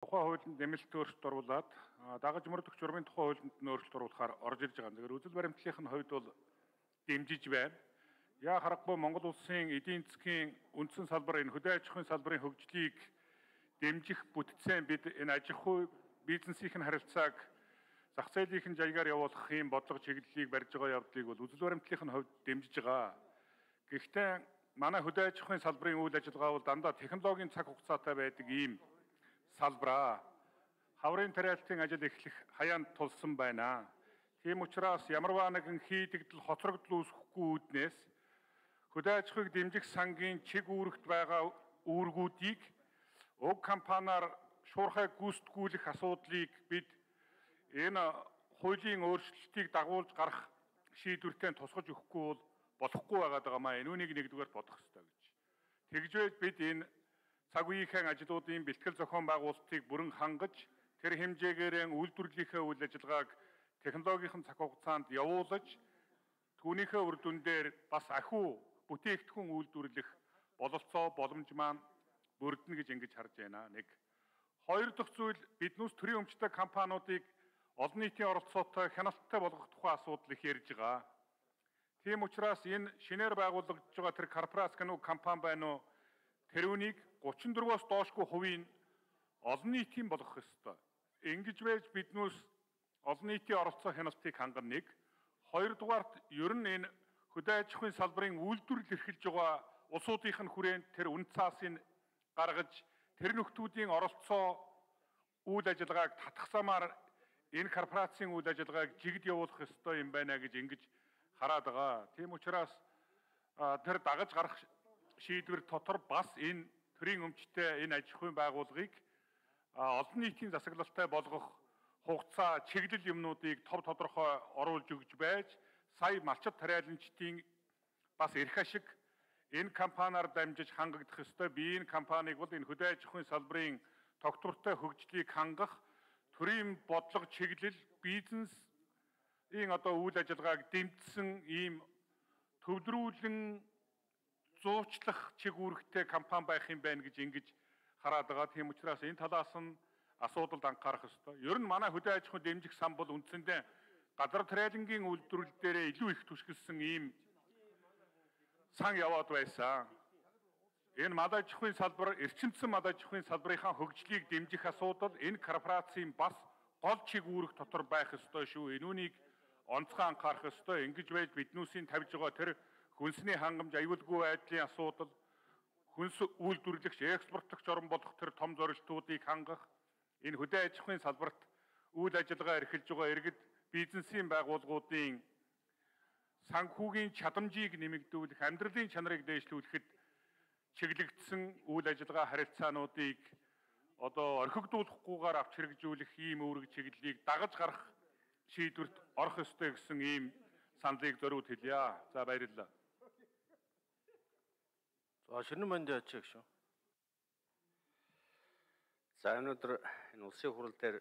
Тухайн хуулинд нэмэлт өөрчлөлт оруулаад дагаж мөрдөх журмын тухайн хуулинд өөрчлөлт оруулахаар орж ирж байгаа. Тэгэхээр үзэл баримтлалын хувьд бол дэмжиж байна. Яа харахгүй Монгол улсын эдийн засгийн үндсэн салбар энэ хөдөө аж ахуйн салбарын хөгжлийг дэмжих бүтцийн бид энэ аж ахуй бизнесийн харилцааг зах зээлийн жаягаар явуулах юм бодлого чиглэлийг барьж байгаа явдлыг бол үзэл баримтлалын хувьд дэмжиж байгаа. Гэхдээ манай хөдөө аж ахуйн салбарын үйл ажиллагаа бол дандаа технологийн цаг хугацаатай байдаг ийм салбараа. Хаврын тариалтын ажил эхлэх хаяанд тулсан байна. Тийм учраас ямарваа нэгэн хийдэгдэл хоцрогдол үүсэхгүй үүднээс хөдөө аж ахуйг дэмжих сангийн чиг үүрэгт байгаа үүргүүдийг уг компаниар шуурхай гүйцэтгүүлэх асуудлыг бид энэ хуулийн өөрчлөлтийг дагуулж гарах шийдвэртэй тусгаж өгөхгүй бол болохгүй байгаа маа. Энүүнийг нэгдүгээр бодох ёстой гэж. Тэгжээж бид энэ цаг үеийн ажлуудын бэлтгэл зохион байгуулалтыг бүрэн хангаж тэр хэмжээгээр үйлдвэрлэлийнхээ үйл ажиллагааг технологийн цаг хугацаанд явуулж түүнийхээ үр дүн дээр бас ахиу бүтээгдэхүүн үйлдвэрлэх бололцоо боломж маань бүрдэнэ гэж ингэж харж байна. Нэг. Хоёр дахь зүйл биднээс төрийн өмчтэй компаниудыг олон нийтийн оролцоотой хяналттай болгох тухай асуудал их ярьж байгаа. Тийм учраас энэ шинээр байгуулагдж байгаа тэр корпорац компани байна уу? Тэр үнийг 34-оос доошгүй хувийн олон нийтийн болгох ёстой. Ингэж байж биднээс олон нийтийн оролцоо хяналтыг хангана нэг. Хоёрдугаарт ер нь энэ хөдөө аж ахуйн салбарын үйлдвэрлэл эрхэлж байгаа улсуудын хүрээнд тэр үн цаасыг гаргаж тэр нөхдүүдийн оролцоо үйл ажиллагааг татахсамаар энэ корпорацийн үйл ажиллагааг жигд явуулах ёстой юм байна гэж ингэж хараад байгаа. Тийм учраас тэр дагаж гарах шийдвэр дотор бас энэ төрийн өмчтэй энэ аж ахуйн байгууллагыг олон нийтийн засаглалтай болгох хугацаа чиглэл юмнуудыг тов тодорхой оруулж өгж байж сая малчит тариаланчдын бас эрх ашиг энэ компаниар дамжиж хангагдах ёстой. Би энэ компанийг бол энэ хөдөө аж ахуйн салбарын тогтвортой хөгжлийг хангах төрийн бодлого чиглэл бизнесийн үйл ажиллагааг дэмжсэн ийм төвлөрүүлэн зуучлах чиг үүрэгтэй компани байх юм байна гэж ингэж хараад байгаа. Тийм учраас энэ талаас нь асуудалд анхаарах ёстой. Ер нь манай хөдөө аж ахуйн дэмжих сан бол үндсэндээ газар тариалангийн үйлдвэрлэл дээрээ илүү их түшгэлсэн ийм сан яваад байсан. Энэ мад аж ахуйн салбар, эрчимцэн мад аж ахуйн салбарынхаа хөгжлийг дэмжих асуудал энэ корпорацийн бас гол чиг үүрэг дотор байх ёстой шүү. Энүүнийг онцгой анхаарах ёстой. Ингэж байж биднүүсийн тавьж байгаа тэр хүнсний хангамж аюулгүй байдлын асуудал, хүнс үйлдвэрлэгч, экспортлогч орн болох тэр том зорилтуудыг хангах, энэ хөдөө аж ахуйн салбарт үйл ажиллагаа эрхэлж байгаа иргэд бизнесийн байгууллагуудын санхүүгийн чадамжийг нэмэгдүүлэх, амьдралын чанарыг дээшлүүлэхэд чиглэгдсэн үйл ажиллагаа харилцаануудыг орхигдуулахгүйгээр авч хэрэгжүүлэх ийм үүрэг чиглэлийг дагаж гарах шийдвэрт орох ёстой гэсэн ийм саналыг зориуд хэлье. За баярлалаа. За Ширнэн Манди ачиг шүү. За өнөөдөр энэ улсын хурал дээр